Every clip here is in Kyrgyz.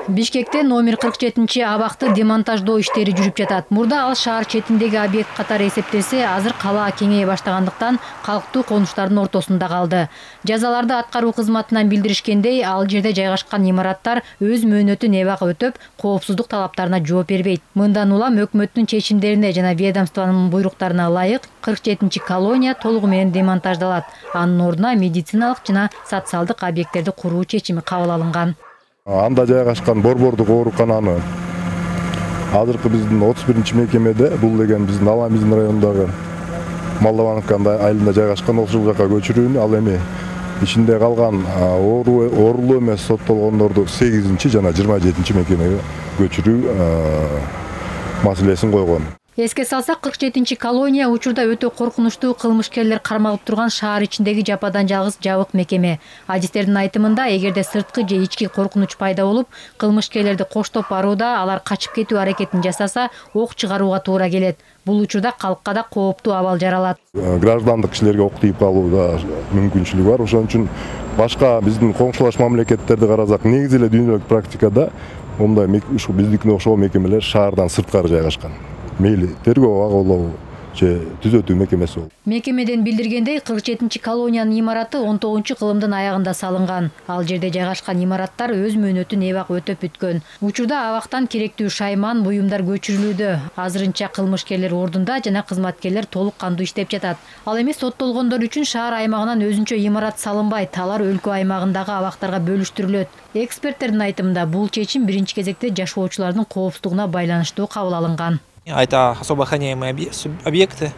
Бишкекте номер 47 абакты демонтаждоо иштери жүрүп жатат. Мурда ал шаар четиндеги объект катары эсептелсе, азыр кала кеңейе баштагандыктан калктуу конуштардын ортосунда калды. Жазаларды аткаруу кызматынан билдиришкендей, ал жерде жайгашкан имараттар өз мөөнөтүн эбак өтөп, коопсуздук талаптарына жооп бербейт. Мындан улам өкмөттүн чечимдерине жана ведомствонун буйруктарына ылайык 47 колония толугу менен демонтаждалат. Анын ордуна медициналык жана социалдык объекттерди куруу чечими кабыл алынган. Анда жайгашкан борбордук оорукананы азыркы биздин 31 мекемеде, бул деген биздин Аламиздин районундагы Молдовановка айылында жайгашкан ошол жака көчүрүүнү, ал эми ичинде калган оорулуу эмес соттолгондорду 8 жана 27 мекемеге көчүрүү маселесин койгон. Эске салсак, 47 колония учурда өтө коркунучтуу кылмышкерлер кармалып турган шаар ичиндеги жападан жалгыз жабык мекеме. Адистердин айтымында, эгерде сырткы же ички коркунуч пайда болуп, кылмышкерлерди коштоп барууда алар качып кетүү аракетин жасаса, ок чыгарууга туура келет. Бул учурда калкка да кооптуу абал жаралат. Граждандык кишилерге ок тийип калууда мүмкүнчүлүгү бар. Ошон үчүн башка биздин коңшулаш мамлекеттерди карасак, негизи эле дүйнөлүк практикада мындай биздикине окшогон мекемелер шаардан сырткары жайгашкан. Мейли тергөө агылуу же түзөтүү мекемеси болуп. Мекемеден билдиргендей, 47 колониянын имараты 19-кылымдын аягында салынган. Ал жерде жайгашкан имараттар өз мөөнөтүн эбак өтөп бүткөн. Учурда абактан керектүү шайман, буюмдар көчүрүлүүдө. Азырынча кылмышкерлер ордунда жана кызматкерлер толук кандуу иштеп жатат. Ал эми соттолгондор үчүн шаар аймагынан өзүнчө имарат салынбайт, алар өлкө аймагындагы абактарга бөлүштүрүлөт. Эксперттердин айтымында, бул чечим биринчи кезекте жашоочулардын коопсуздугуна байланыштуу кабыл алынган. Это особо охраняемые объекты.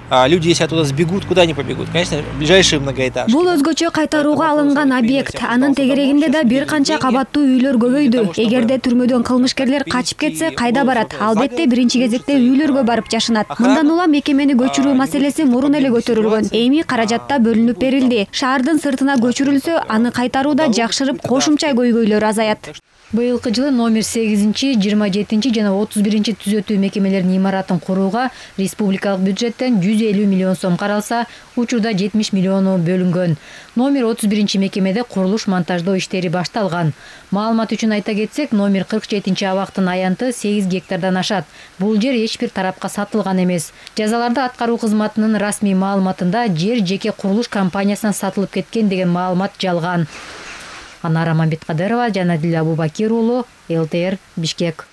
Люди, если оттуда сбегут, куда они побегут? Конечно, ближайшие многоэтажки. Бул өзгөчө кайтарууга алынган объект. Анын тегерегинде да бир канча кабаттуу үйлөр көбөйдү. Эгерде түрмөдөн кылмышкерлер качып кетсе, кайда барат? Албетте, биринчи кезекте үйлөргө барып жашынат. Мындан улам мекемени көчүрүү маселеси мурун эле көтөрүлгөн. Эми каражатта бөлүнүп берилди. Шаардын сыртына көчүрүлсө, аны кайтарууда жакшырып, кошумча көйгөйлөр азаят. Быйылкы жылы номер 8, 27 жана 31 түзөтүү мекемелеринин имаратын курууга республикалык бюджеттен 150 миллион сом каралса, учурда 70 миллиону бөлүнгөн. Номер 31 мекемеде курулуш монтаждоо иштери башталган. Маалымат үчүн айта кетсек, номер 47 абактын аянты 8 гектардан ашат. Бул жер эч бир тарапка сатылган эмес. Жазаларды аткаруу кызматынын расмий маалыматында жер жеке курулуш компаниясына сатылып кеткен деген маалымат жалган. Анара Мамбеткадырова жана Диле Абубакир уулу, ЛТР, Бишкек.